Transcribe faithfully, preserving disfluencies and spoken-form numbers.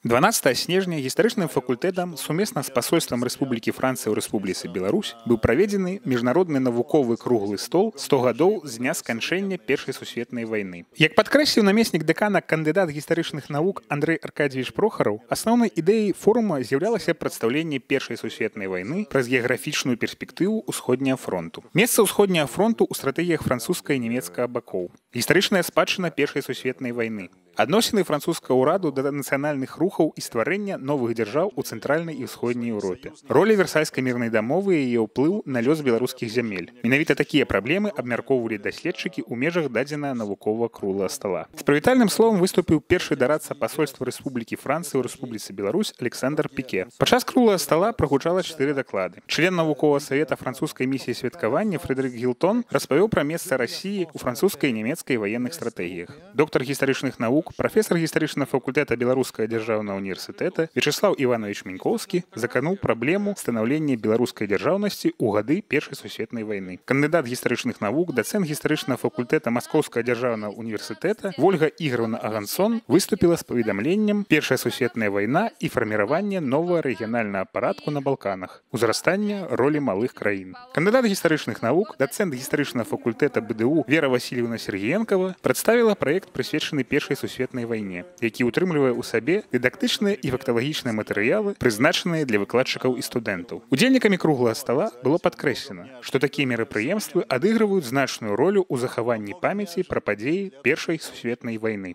дванаццатага снежня гістарычным факультэтам сумесна з пасольствам Рэспублікі Францыя ў Рэспубліцы Беларусь быў праведзены міжнародны навуковы круглы стол сто гадоў з дня сканчэння першай сусветнай вайны. Як падкрэсліў намеснік дэкана кандыдат гістарычных навук Андрэй Аркадьевич Прохараў, асноўнай ідэяй форума з'яўлялася прадстаўленне першай сусветнай вайны праз геаграфічную перспектыву ўсходняга фронту. Месца ўсходняга фронту ў стратэгіях французскага і нямецкага бакоў. Гістарычная спадчына першай сусветнай вайны. Адносіны французскага ўраду да нацыянальных рухаў і стварэння новых дзяржаў у цэнтральнай і ўсходняй Еўропе. Роля версальскай мірнай дамовы і яе ўплыў на лёс беларускіх зямель. Менавіта такія праблемы абмяркоўвалі даследчыкі ў межах дадзенага навуковага круглага стала. З прывітальным словам выступіў першы дарадца пасольства Рэспублікі Францыі ў Рэспубліцы Беларусь Александр Піке. Падчас круглага стала прагучала чатыры даклады. Член навуковага савета французскай місіі святкавання Фрэдэрык Гілтон распавёў пра месца Расіі ў французскай і нямецкай ваенных стратэгіях. Доктар гістарычных навук, прафесор гістарычнага факультэта Беларускага дзяржаўнага універсітэта Вячеслав Іванович Мінькоўскі закануў праблему станаўлення беларускай дзяржаўнасці ў гады першай сусветнай вайны. Кандыдат гістарычных навук, дацэнт гістарычнага факультэта Маскоўскага дзяржаўнага універсітэта Вольга Ігоровна Агансон выступіла з паведамленнем «Першая сусветная вайна і фарміраванне новага рэгіянальнага парадку на Балканах. Узрастання ролі малых краін». Кандыдат гістарычных навук, дацэнт гістарычнага факультэта БДУ Вера Васильевна Сергіенкова прадставіла праект, прысвечаны першай сусветнай вайне, які ўтрымлівае ў сабе дыдактычныя і факталагічныя матэрыялы, прызначаныя для выкладчыкаў і студэнтаў. Удзельнікамі круглага стала было падкрэслена, што такія мерапрыемствы адыгрываюць значную ролю ў захаванні памяці пра падзеі першай сусветнай вайны.